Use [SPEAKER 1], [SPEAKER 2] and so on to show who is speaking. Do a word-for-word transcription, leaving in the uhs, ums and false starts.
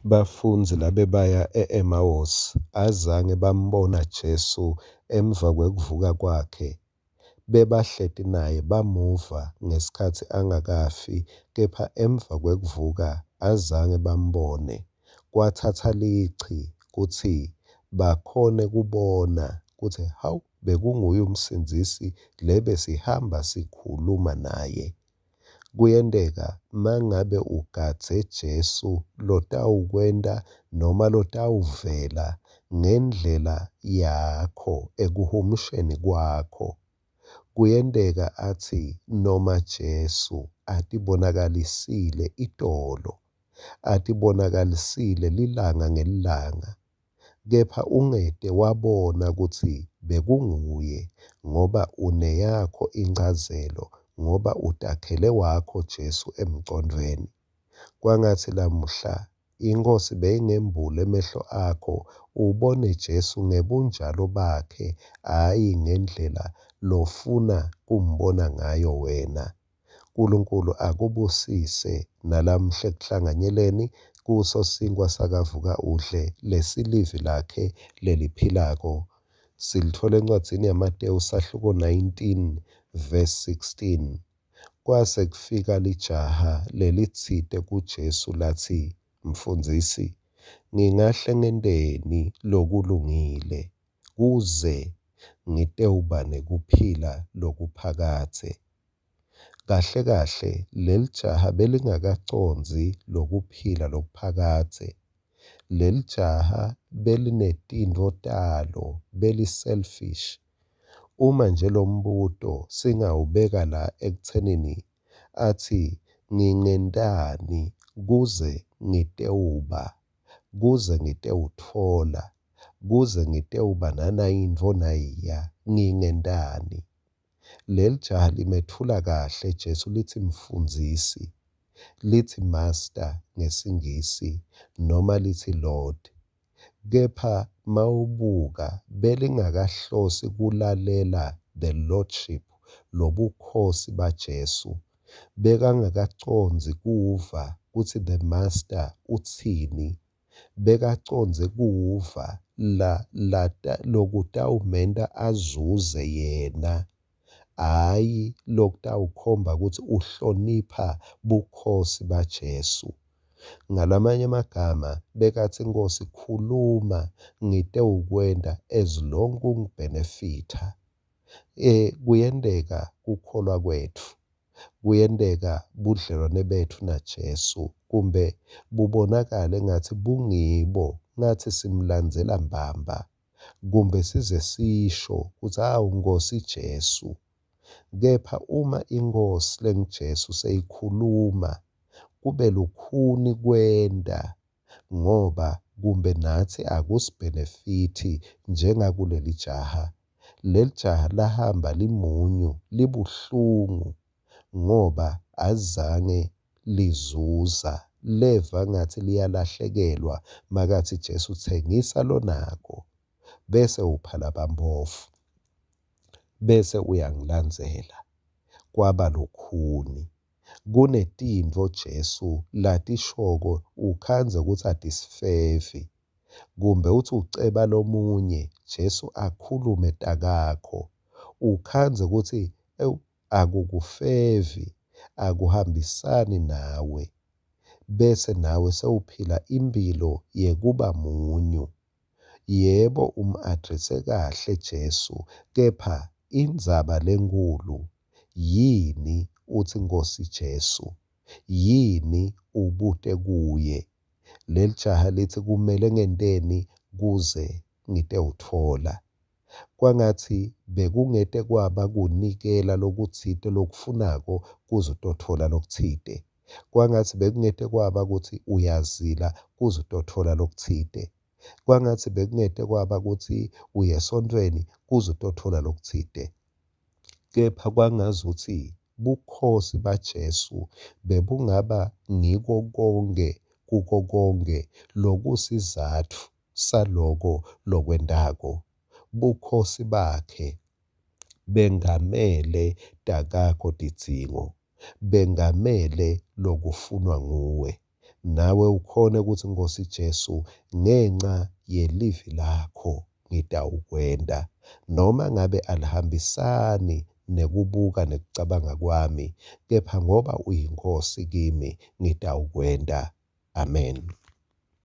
[SPEAKER 1] Bafundzi labebaya e-Emawusi azange bambona Jesu emva kwekuvuka kwakhe. Bebahleti naye bamuva ngesikhatsi angakafi, kepha emva kwekuvuka azange bambone. Kwatsatsa lichi kutsi bakhone kubona kutsi hawu bekunguye uMsindzisi lebesihamba sikhuluma naye. Kuyenteka mangabe ugadze Jesu lotawukwenta noma lotawuvela ngendlela yakho ekuhumusheni kwakho. Kuyenteka atsi noma Jesu atibonakalisile itolo, atibonakalisile lilanga ngelilanga, kepha ungete wabona kutsi bekunguye ngoba uneyakho inchazelo, ngoba utakhele wakho Jesu emcondvweni. Kwangatsi lamuhla iNkhosi beyingembula emehlo akho ubone Jesu ngebunjalo bakhe, hhayi ngendlela lofuna kumbona ngayo wena. Nkulunkulu akubusise nalamuhla ekuhlanganyeleni kuso sinkhwa sakavuka udle lesilivi lakhe leliphilako. Silithola encwadzini yaMatewu sahluko nineteen verse sixteen. Kwase kufika lijaha lelitsite kuJesu latsi, Mfundzisi, ngingahle ngenteni lokulungile kuze ngitewuba nekuphila lokuphakadze? Kahle kahle lelijaha belingakacondzi lokuphila lokuphakadze. Lelijaha belinetintfo talo, beli-selfish. Uma nje lombuto singawubeka la ekutsenini atsi ngingentani kuze ngitewuba, kuze ngitewutfola, kuze ngitewuba nanayintfo nayiya, ngingentani? Lelijaha limetfula kahle Jesu litsi Mfundzisi, litsi Master ngesiNgisi noma litsi Lord. Kepha mawubuka belingakahlosi kulalela the Lordship, lobukhosi baJesu. Bekangakacondzi kuva kutsi the Master utsini. Bekacondze kuva la la lokutawumenta azuze yena, hhayi lokutawukhomba kutsi uhlonipha bukhosi baJesu. Ngalamanye amagama bekatsi Nkosi khuluma ngitewukwenta as long kungibenefitha. Eh kuyenteka kukholwa kwetfu, kuyenteka budlelwane betfu naJesu kumbe bubonakale ngathi bungibo, ngathi simlandzela mbamba, kumbe size sisho kutsi hawu Nkosi Jesu. Kepha uma iNkhosi lenguJesu seyikhuluma kube lukhuni kwenta ngoba kumbe natsi akusibhenefithi njengakuleli jaha. Leli jaha lahamba limunyu libuhlungu ngoba azange lizuza, leva ngathi liyalahlekelwa makathi Jesu tsengisa lonako bese upha labampofu bese uyangilandzela. Kwaba lukhuni. Kunetintfo Jesu latishoko ukhandze kutsi atisifevi, kumbe uthi uceba lomunye Jesu akhulume takakho ukhandze kutsi ewu akukufevi, akuhambisani nawe, bese nawe sewuphila imphilo yekuba munyu. Yebo, um-addresse kahle Jesu, kepha indzaba lenkulu yini uthi Nkosi Jesu? Yini ubute kuye? Lelijaha lithi kumele ngenteni kuze ngitewutfola? Kwangatsi bekungete kwaba kunikela lokutsite lokufunako kuze utotfola lokutsite. Kwangatsi bekungete kwaba kutsi uyazila kuze utotfola lokutsite. Kwangatsi bekungete kwaba kutsi uye esontfweni kuze utotfola lokutsite. Kepha kwangazuthi bukhosi baJesu bebungaba ngiko konke kuko konke lokusizatfu saloko lokwentako. Bukhosi bakhe bengamele takakho tidzingo, bengamele lokufunwa nguwe. Nawe ukhone kutsi, Nkhosi Jesu, ngenca yelivi lakho ngitawukwenta. Noma ngabe alihambisani nekubuka nekucabanga kwami, kepha ngoba uyiNkhosi kimi, ngitawukwenta. Amen.